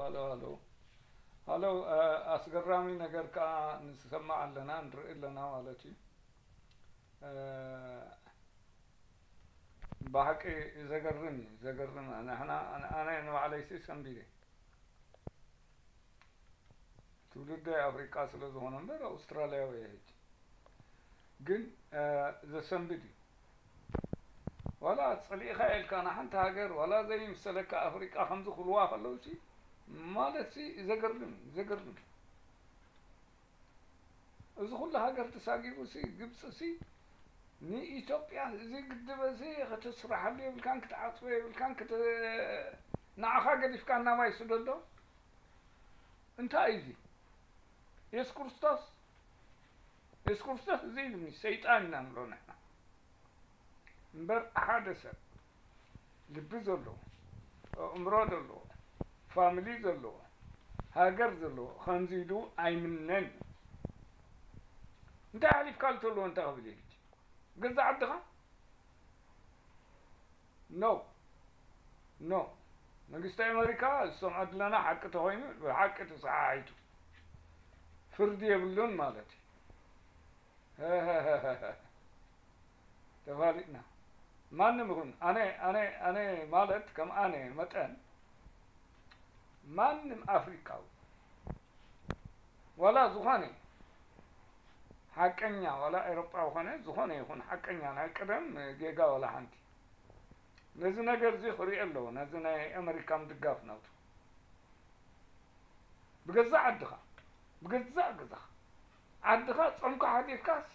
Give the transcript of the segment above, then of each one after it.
ሃሎ፣ ሃሎ። ሃሎ፣ እ፣ ኣስገራሚ ነገር ከኣ ንሰምዕ ኣለና፣ ንርኢ ኣለና ማለት እዩ። እ፣ ብሓቂ ዘገርም እዩ፣ ዘገርም። ንሕና፣ ኣነ፣ ኣነ ንባዕለይሲ ሰንቢደ። ትውልደ ኣፍሪቃ ስለ ዝኾነ እምበር ኣውስትራልያዊ እየ ሕጂ። ግን፣ እ፣ ዘሰንብድ እዩ። ዋላ ጸሊእካ ኢልካ ንሓንቲ ሃገር፣ ዋላ ዘይምሰለካ ኣፍሪቃ ከምዚ ክብልዋ ከለውሲ፣ ማለትሲ ዘገርም እዩ፣ ዘገርም እዩ። እዚ ኩሉ ሃገር ተሳጊሩሲ፣ ግብጽሲ ንኢትዮጵያ እዚ ግድብ እዚ ክትስራሓሉ የብልካን፣ ክትዓጽዎ የብልካን፣ ክት-፣ ንዓኻ ገዲፍካ እናማይ ስደዶ። እንታይ እዩ እዚ? የሱስ ክርስቶስ፣ የሱስ ክርስቶስ እዚ ኢሉኒ፣ ሰይጣን ኢና ንብሎ ንሕና። እምበር ሓደ ሰብ ልቢ ዘለዎ፣ ኣእምሮ ዘለዎ፣ ፋሚሊ ዘለዎ፣ ሃገር ዘለዎ ከምዚ ኢሉ ኣይምነን። እንታይ ሓሊፍካሉ ተለዎ እንታይ ክብል እዩ ሕጂ? ገዛእ ዓድኻ? ኖ፣ ኖ። መንግስቲ ኣሜሪካ ዝሰምዖ ድለና ሓቂ ተኾይኑ፣ ብሓቂ ተሰሓሒቱ። ፍርዲ የብሉን ማለት እዩ። ተፋሊጥና። ማንም ይኹን፣ ኣነ፣ ኣነ፣ ኣነ ማለት ከም ኣነ መጠን፣ ማንም ኣፍሪቃዊ፣ ዋላ ዝኾነ ሓቀኛ፣ ዋላ ኤሮጳዊ ኾነ፣ ዝኾነ ይኹን ሓቀኛ፣ ናይ ቀደም ጌጋ ዋላ ሓንቲ፣ ነዚ ነገር እዚ ክሪኦ ኣለዎ፣ ነዚ ናይ ኣመሪካ ምድጋፍ ናቱ። ብገዛእ ዓድኻ፣ ብገዛእ ገዛኻ፣ ዓድኻ ጾምካ ሓዲርካስ፣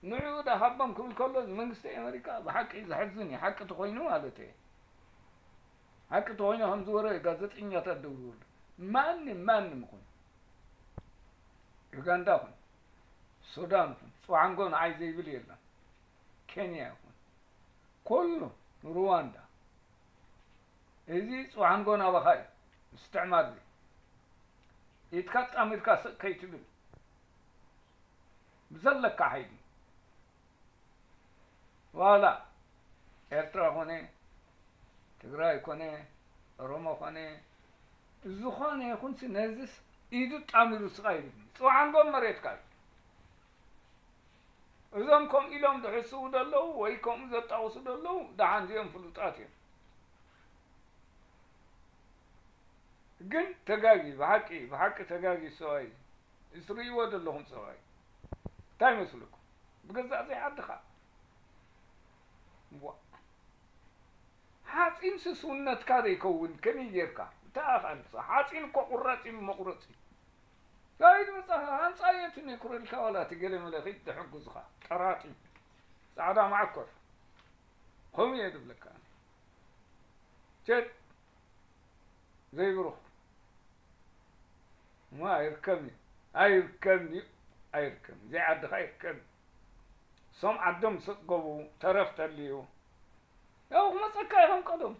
ንዕኡ ደኣ ሃቦም ክብል ከሎ፣ ንመንግስቲ ኣመሪካ ብሓቂ ዘሕዝን እዩ፣ ሓቂ ተኾይኑ ማለት እየ። ሓቂ ተኾይኑ ከምዚ ወረ ጋዜጠኛታት ደው ይበሉ። ማንም፣ ማንም ይኹን፣ ዩጋንዳ ይኹን፣ ሱዳን ይኹን፣ ጽዋዕንጎ ንዓይ ዘይብል የለን። ኬንያ ይኹን፣ ኩሉ፣ ሩዋንዳ፣ እዚ ጽዋዕንጎ ናባኻ እዩ። ምስትዕማር እዚ ኢድካ ጣሚርካ ስቕ ከይትብል ብዘለካ ሓይሊ፣ ዋላ ኤርትራ ኮነ፣ ትግራይ ኮነ፣ ኦሮሞ ኮነ፣ ዝኾነ ይኹንሲ ነዚስ ኢዱ ጣሚሩ ስቕ ኣይብል። ጽዋዕንጎ መሬትካ እዩ። እዞም ከምኡ ኢሎም ዝሕስቡ ዘለዉ ወይ ከምኡ ዘጣቕሱ ዘለዉ ደሓን እዚኦም ፍሉጣት እዮም። ግን ተጋጊ፣ ብሓቂ፣ ብሓቂ ተጋጊ ሰብኣይ እዩ። እትርእይዎ ዘለኹም ሰብኣይ። እንታይ ይመስለኩም? ብገዛእ ዘይ ዓድኻ። ዋ። ሓጺን ስስውነትካ ዘይከውን ከመይ ጌርካ? እንታይ ኣኻልሳ? ሓጺን እኮ ቁራጽ እዩ፣ መቑረጺ። ካይድ መጻኻ፣ ኣምጻዮ እቲ ኔኩረልካ ዋላ እቲ ገለ መለ ኺድ ተሐጉዝኻ። ጠራጢ። ጻዕዳ ማዕኮር። ከምኡ እየ ዝብለካ። ቸት። ዘይብሩኽ። እሞ ኣይርከብን እዩ። ኣይርከብን እዩ። ኣይርከብን። ዘይዓድኻ ኣይርከብን። እሶም ዓዶም ምስ ኣጽገቡ ተረፍ ተልዩ። ያው ክመጸካ ኢኹም ቀደም።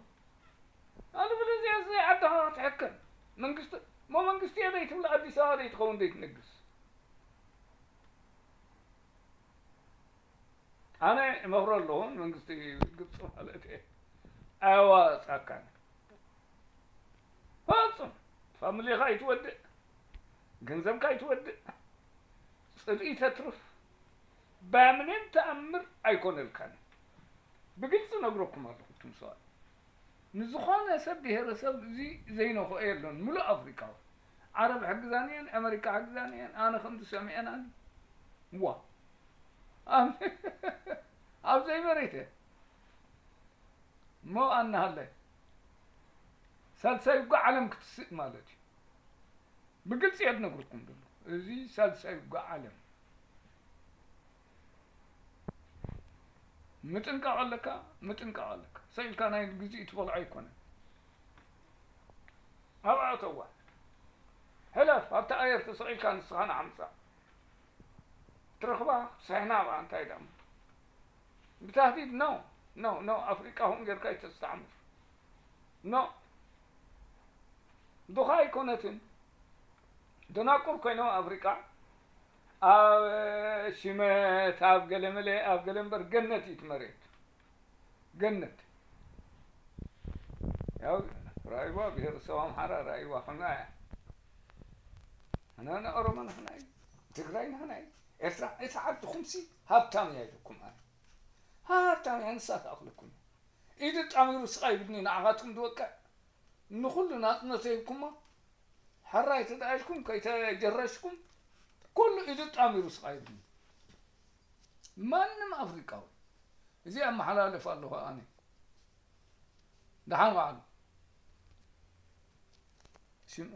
ኣነ ብለዚያ እዚ ዓድኻ ክትሕከም። መንግስቲ፣ እሞ መንግስቲ እየ ዘይትብል ኣዲስ ኣበባ ዘይትኸውን ዘይትነግስ። ኣነ እመኽሮ ኣለኹ መንግስቲ ግብፂ ማለት እየ። ኣየዋፃካን። ፈጹም ፋሚሊኻ ኣይትወድእ፣ ገንዘብካ ኣይትወድእ፣ ጽልኢ ተትርፍ። በምንም ተኣምር ኣይኮነልካን። ብግልፂ ነግረኩም ኣለኹ እቱም ሰባት። ንዝኾነ ሰብ ብሄረሰብ እዚ ዘይነኽኦ የሎን ምሉእ ኣፍሪቃዊ። ዓረብ ሕግዛን እየን፣ ኣመሪካ ሕግዛን እየን፣ ኣነ ከምዚ ሰሚዐናኒ። ዋ ኣብ ዘይመሬተ እሞ ኣናሃለ ሳልሳይ ውግእ ዓለም ክትስእ ማለት እዩ። ብግልፂ እየ ዝነግረኩም ዘሎ። እዚ ሳልሳይ ውግእ ዓለም ምጥንቃቕ ኣለካ፣ ምጥንቃቕ ኣለካ። ሰኢልካ ናይ ግዜ ትበልዖ ኣይኮነን። ኣብኣ እተዋ ሕለፍ፣ ኣብቲ ኣየር ተሰቒልካ ንስኻ ንዓምፃ ትረኽባ ስሕና ኣብኣ እንታይ ደኣ ብታህዲድ ኖ ኖ ኖ ኣፍሪቃ ኹም ጌርካ ይተስተዓምር ኖ ድኻ ኣይኮነትን። ደናቁር ኮይኖም ኣፍሪቃ ኣብ ሽመት ኣብ ገለመለ ኣብ ገለ እምበር ገነት እዩ እቲ መሬት። ገነት ያው ራይዋ ብሄረሰብ ኣምሓራ ራይዋ ኾና እያ። ኣነ ንኦሮሞ ንሕና እዩ፣ ትግራይ ንሕና እዩ። ኤርትራ፣ እቲ ዓድኹምሲ ሃብታም እያ ኢልኩም ኣነ። ሃብታም እያ፣ ንሳ ትኣኽለኩም። ኢዱ ጣሚሩ ስቓይ ይብድኒ ንዓኻትኩም ዝወቅዕ። ንኹሉ ናጽነት ሂብኩሞ። ሕራይ ተደኣ ኢልኩም ከይተጀረሽኩም፣ ኩሉ ኢዱ ጣሚሩ ስቓይ ይብድኒ። ማንም ኣፍሪቃዊ። እዚ ኣመሓላልፍ ኣለኹ ኣነ። ደሓን ዋዕሉ። ሽም-፣